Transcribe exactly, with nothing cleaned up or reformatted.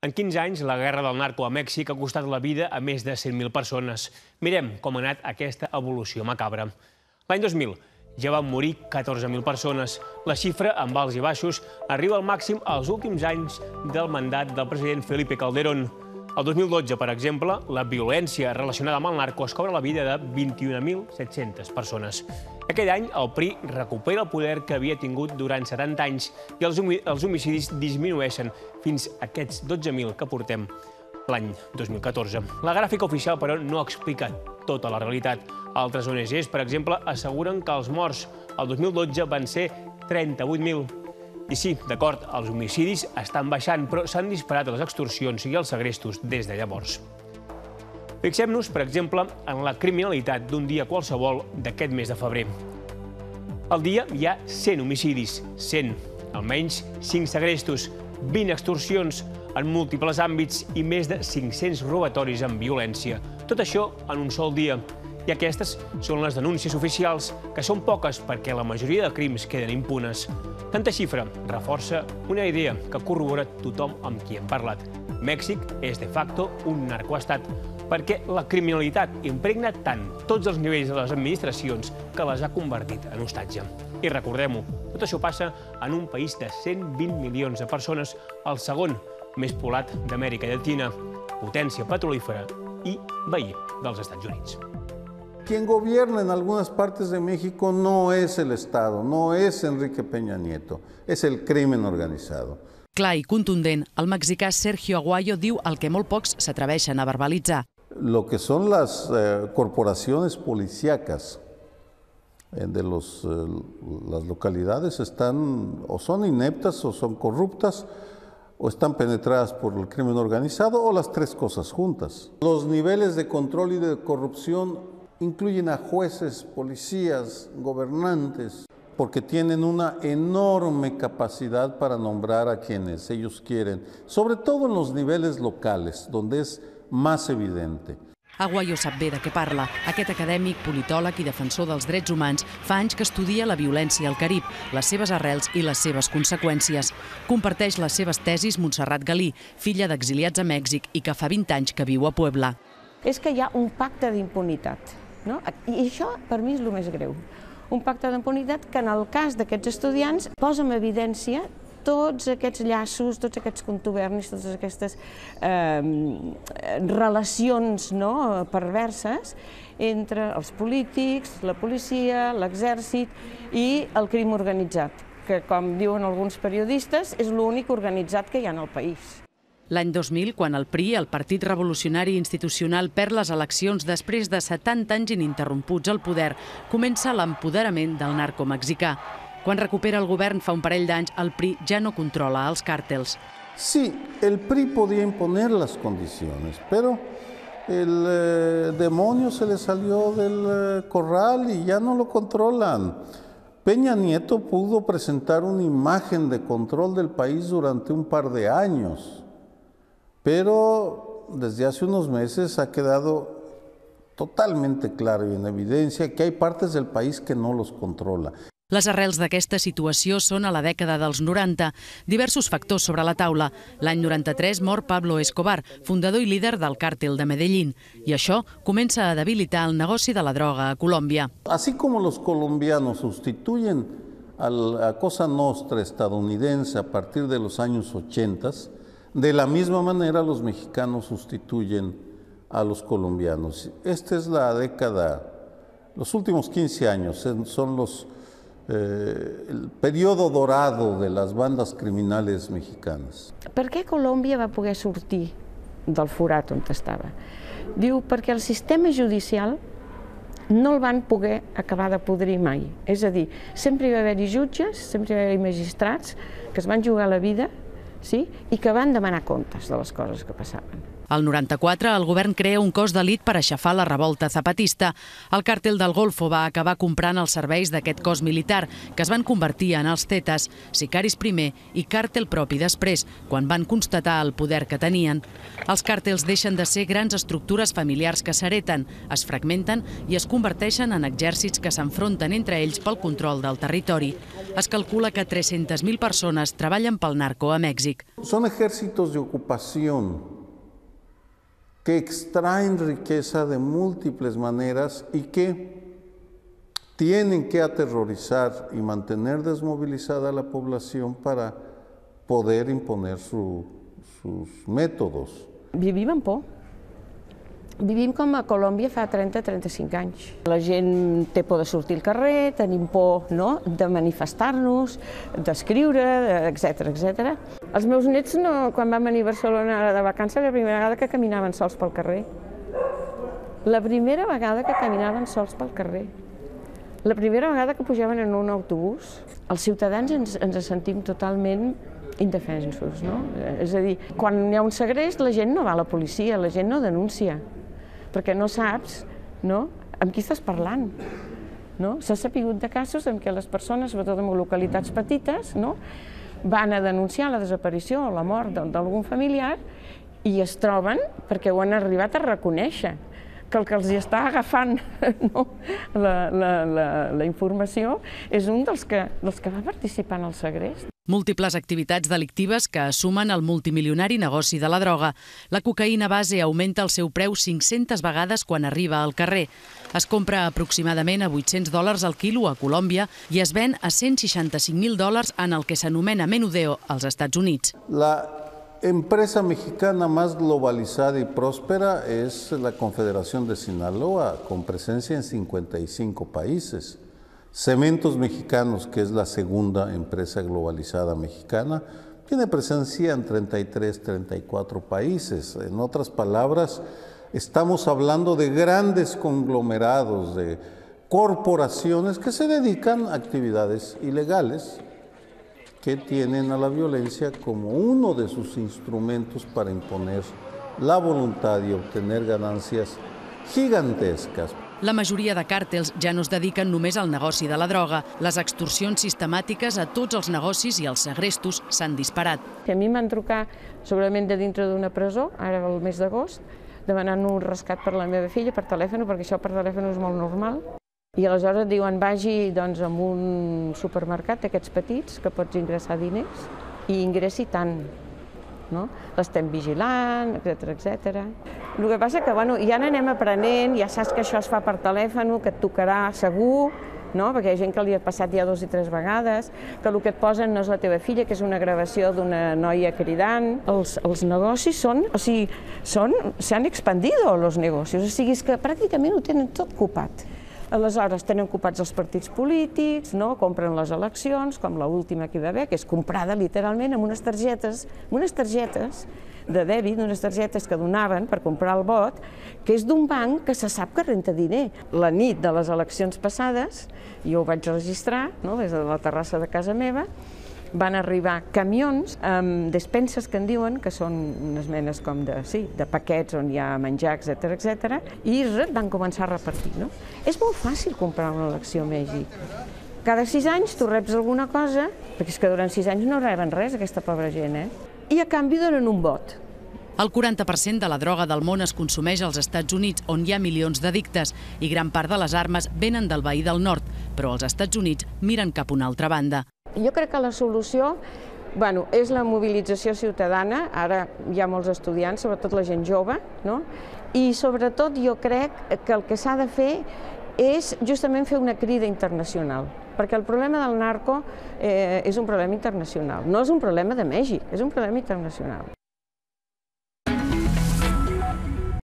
En quinze anys, la guerra del narco a Mèxic ha costat la vida a més de cent mil persones. Mirem com ha anat aquesta evolució macabra. L'any dos mil ja van morir catorze mil persones. La xifra, amb alts i baixos, arriba al màxim als últims anys del mandat del president Felipe Calderón. El dos mil dotze, per exemple, la violència relacionada amb el narco es cobra la vida de vint-i-un mil set-centes persones. Aquell any, el P R I recupera el poder que havia tingut durant setanta anys i els homicidis disminueixen fins a aquests dotze mil que portem l'any dos mil catorze. La gràfica oficial, però, no explica tota la realitat. Altres O N Ges, per exemple, asseguren que els morts el dos mil dotze van ser trenta-vuit mil. I sí, d'acord, els homicidis estan baixant, però s'han disparat les extorsions i els segrestos des de llavors. Fixem-nos, per exemple, en la criminalitat d'un dia qualsevol d'aquest mes de febrer. Al dia hi ha cent homicidis, cent, almenys cinc segrestos, vint extorsions en múltiples àmbits i més de cinc-cents robatoris amb violència. Tot això en un sol dia. I aquestes són les denúncies oficials, que són poques perquè la majoria de crims queden impunes. Tanta xifra reforça una idea que corrobora tothom amb qui hem parlat. Mèxic és de facto un narcoestat, perquè la criminalitat impregna tant tots els nivells de les administracions que les ha convertit en hostatge. I recordem-ho, tot això passa en un país de cent vint milions de persones, el segon més poblat d'Amèrica Llatina, potència petrolífera i veí dels Estats Units. Quien gobierna en algunas partes de México no es el Estado, no es Enrique Peña Nieto, es el crimen organizado. Clar i contundent, el mexicà Sergio Aguayo diu el que molt pocs s'atreveixen a verbalitzar. Lo que son las eh, corporaciones policíacas eh, de los, eh, las localidades están o son ineptas o son corruptas o están penetradas por el crimen organizado o las tres cosas juntas. Los niveles de control y de corrupción incluyen a jueces, policías, gobernantes, porque tienen una enorme capacidad para nombrar a quienes ellos quieren, sobre todo en los niveles locales, donde es más evidente. Aguayo sap bé de què parla. Aquest acadèmic, politòleg i defensor dels drets humans fa anys que estudia la violència al Carib, les seves arrels i les seves conseqüències. Comparteix les seves tesis Montserrat Galí, filla d'exiliats a Mèxic i que fa vint anys que viu a Puebla. És que hi ha un pacte d'impunitat, no? I això per mi és el més greu. Un pacte d'impunitat que en el cas d'aquests estudiants posa en evidència tots aquests llaços, tots aquests contubernis, totes aquestes eh, relacions no, perverses entre els polítics, la policia, l'exèrcit i el crim organitzat, que, com diuen alguns periodistes, és l'únic organitzat que hi ha en el país. L'any dos mil, quan el P R I, el Partit Revolucionari Institucional, perd les eleccions després de setanta anys ininterromputs al poder, comença l'empoderament del narco mexicà. Quan recupera el govern fa un parell d'anys, el P R I ja no controla els càrtels. Sí, el P R I podía imponer las condiciones, pero el eh, demonio se le salió del eh, corral y ya no lo controlan. Peña Nieto pudo presentar una imagen de control del país durante un par de años, pero desde hace unos meses ha quedado totalmente claro y en evidencia que hay partes del país que no los controla. Les arrels d'aquesta situació són a la dècada dels noranta. Diversos factors sobre la taula. L'any noranta-tres mor Pablo Escobar, fundador i líder del càrtel de Medellín. I això comença a debilitar el negoci de la droga a Colòmbia. Así como los colombianos sustituyen a la Cosa Nostra estadounidense a partir de los años ochenta, de la misma manera los mexicanos sustituyen a los colombianos. Esta es la década, los últimos quince años son los Eh, el periodo dorado de les bandes criminals mexicanes. Per què Colòmbia va poder sortir del forat on estava? Diu perquè el sistema judicial no el van poder acabar de podrir mai. És a dir, sempre hi va haver-hi jutges, sempre hi va haver-hi magistrats que es van jugar la vida, sí? I que van demanar comptes de les coses que passaven. Al noranta-quatre, el govern crea un cos d'elit per aixafar la revolta zapatista. El càrtel del Golfo va acabar comprant els serveis d'aquest cos militar, que es van convertir en els Zetas, sicaris primer i càrtel propi després, quan van constatar el poder que tenien. Els càrtels deixen de ser grans estructures familiars que s'hereten, es fragmenten i es converteixen en exèrcits que s'enfronten entre ells pel control del territori. Es calcula que tres-centes mil persones treballen pel narco a Mèxic. Son ejércitos de ocupación que extraen riqueza de múltiples maneras y que tienen que aterrorizar y mantener desmovilizada a la población para poder imponer su, sus métodos. Vivim amb por. Vivim com a Colòmbia fa trenta a trenta-cinc anys. La gent té por de sortir al carrer, tenim por de manifestar-nos, d'escriure, etcètera, etcètera. Els meus nets, quan van venir a Barcelona de vacances, era la primera vegada que caminaven sols pel carrer. La primera vegada que caminaven sols pel carrer. La primera vegada que pujaven en un autobús. Els ciutadans ens, ens sentim totalment indefensos, no? És a dir, quan hi ha un segrest, la gent no va a la policia, la gent no denuncia, perquè no saps, no?, amb qui estàs parlant. No? S'ha sapigut de casos en què les persones, sobretot en localitats petites, no?, van a denunciar la desaparició o la mort d'algun familiar i es troben, perquè ho han arribat a reconèixer, que el que els està agafant no, la, la, la, la informació és un dels que, dels que va participar en el segrest. Múltiples activitats delictives que assumen el multimilionari negoci de la droga. La cocaïna base augmenta el seu preu cinc-centes vegades quan arriba al carrer. Es compra aproximadament a vuit-cents dòlars al quilo a Colòmbia i es ven a cent seixanta-cinc mil dòlars en el que s'anomena menudeo als Estats Units. La empresa mexicana más globalizada y próspera es la Confederación de Sinaloa, con presencia en cincuenta y cinco países. Cementos Mexicanos, que es la segunda empresa globalizada mexicana, tiene presencia en treinta y tres, treinta y cuatro países. En otras palabras, estamos hablando de grandes conglomerados, de corporaciones que se dedican a actividades ilegales, que tienen a la violencia como uno de sus instrumentos para imponer la voluntad y obtener ganancias gigantescas. La majoria de càrtels ja no es dediquen només al negoci de la droga. Les extorsions sistemàtiques a tots els negocis i els segrestos s'han disparat. A mi em van trucar segurament de dintre d'una presó, ara el mes d'agost, demanant un rescat per la meva filla per telèfon, perquè això per telèfon és molt normal. I aleshores et diuen vagi doncs, a un supermercat d'aquests petits que pots ingressar diners i ingressi tant. No? L'estem vigilant, etcètera, etcètera. El que passa que bueno, ja n'anem aprenent, ja saps que això es fa per telèfon, que et tocarà segur, no? Perquè hi ha gent que li ha passat ja dos i tres vegades, que el que et posen no és la teva filla, que és una gravació d'una noia cridant. Els, els negocis són, o sigui, són, s'han expandido els negocis, o sigui, és que pràcticament ho tenen tot ocupat. Aleshores tenen ocupats els partits polítics, no? Compren les eleccions, com l'última que hi va haver, que és comprada literalment amb unes targetes, amb unes targetes de dèbit, unes targetes que donaven per comprar el vot, que és d'un banc que se sap que renta diner. La nit de les eleccions passades, jo ho vaig registrar, no? Des de la terrassa de casa meva, van arribar camions amb despenses que en diuen, que són unes menes com de, sí, de paquets on hi ha menjar, etcètera, etcètera, i van començar a repartir. No? És molt fàcil comprar una elecció a Mèxic. Cada sis anys tu reps alguna cosa, perquè és que durant sis anys no reben res, aquesta pobra gent, eh? I a canvi donen un vot. El quaranta per cent de la droga del món es consumeix als Estats Units, on hi ha milions d'addictes, i gran part de les armes venen del veí del nord, però els Estats Units miren cap a una altra banda. Jo crec que la solució bueno, és la mobilització ciutadana, ara hi ha molts estudiants, sobretot la gent jove, no? I sobretot jo crec que el que s'ha de fer és justament fer una crida internacional, perquè el problema del narco eh, és un problema internacional, no és un problema de Mèxic, és un problema internacional.